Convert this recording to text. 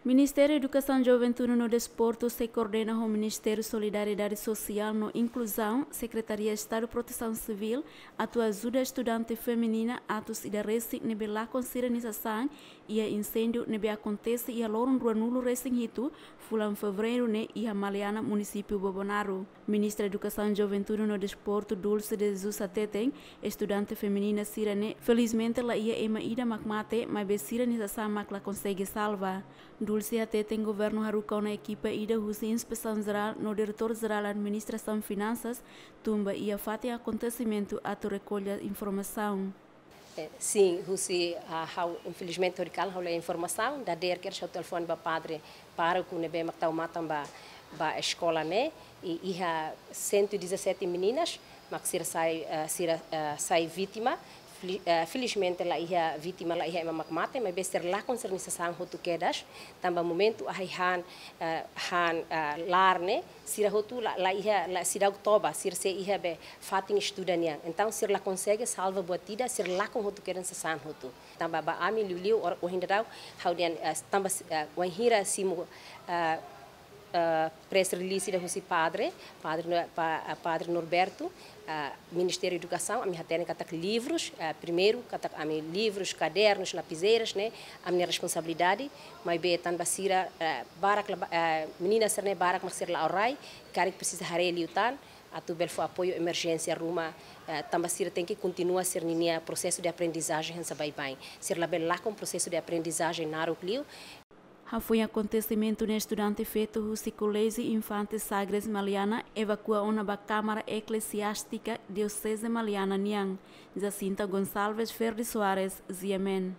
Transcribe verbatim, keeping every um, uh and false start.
Ministériu Edukasaun, Juventude no Desportu sei koordena ho Ministériu Solidariedade Sosiál no Inkluzaun, Sekretaria Estadu Protesaun Sivíl, atu ajuda estudante feminina atus ida resin ne'ebé lakon sira-nia sasán iha inséndiu ne'ebé akontese iha loron ruanulu resin hitu fulan Fevereiru ne'e iha Maliana, munisípiu Bobonaro. Ministra Edukasaun, Juventude no Desportu, Dulce de Jesus, hateten estudante feminina sira-ne'e felizmente la iha ema ida mak mate, maibé sira-nia sasán mak la konsege salva. Dulce hateten governu haruka ona ekipa ida husi Inspesaun Jerál no Diretór Jerál Administrasaun Finansas tun ba iha fatin akontesimentu atu rekolla informasaun. Eh, sin, husi, ah, ha'u, infelizmente, hori kal ha'u la iha informasaun, dadeer kedas ha'u telefone ba padre pároku ne'ebé mak tau matan ba, ba eskola ne'e, i iha cento e dezassete meninas mak sira sai, eh, sira, eh, sai vítima. Feli-, eh, felizmente la iha vítima, la iha ema mak mate, maibé sira lakon sira-nia sasán hotu kedas, tanba momentu ahi han, eh, han, eh, lar ne'e, sira hotu la, la iha, la seidauk toba, sira sei iha be fatin estuda nian. Entaun, sira la konsege salva buat ida, sira lakon hotu kedas sasán hotu. Tanba ba ami liuliu, or-, ohin daudaun, ha'u dehan, eh, tanba, eh, wainhira simu, eh, eh, press release ida husi padre, padre No-, pa-, eh, padre Norberto, eh, Ministériu Edukasaun, ami hatene katak livrus, eh, primeiru, katak ami livrus, kadernus, lapizeiras, ne'e, ami-nia responsabilidade, maibé tanba sira, eh, barak la ba-, eh, menina sira-ne'e barak mak sira la'o rai, karik presiza haree liután, atu bele fó apoiu emerjénsia ruma, eh, tanba sira tenke kontinua sira-ninia prosesu de aprendizajen hanesan baibain. Sira labele lakon prosesu de aprendizajen naruk liu. Hafoin akontesimentu ne'e estudante feto husi Koléjiu Infante Sagres Maliana evakua ona ba Kámara Eklesiástika Dioseze Maliana nian. Jacinta Gonçalves, Ferdi Soares, G M N.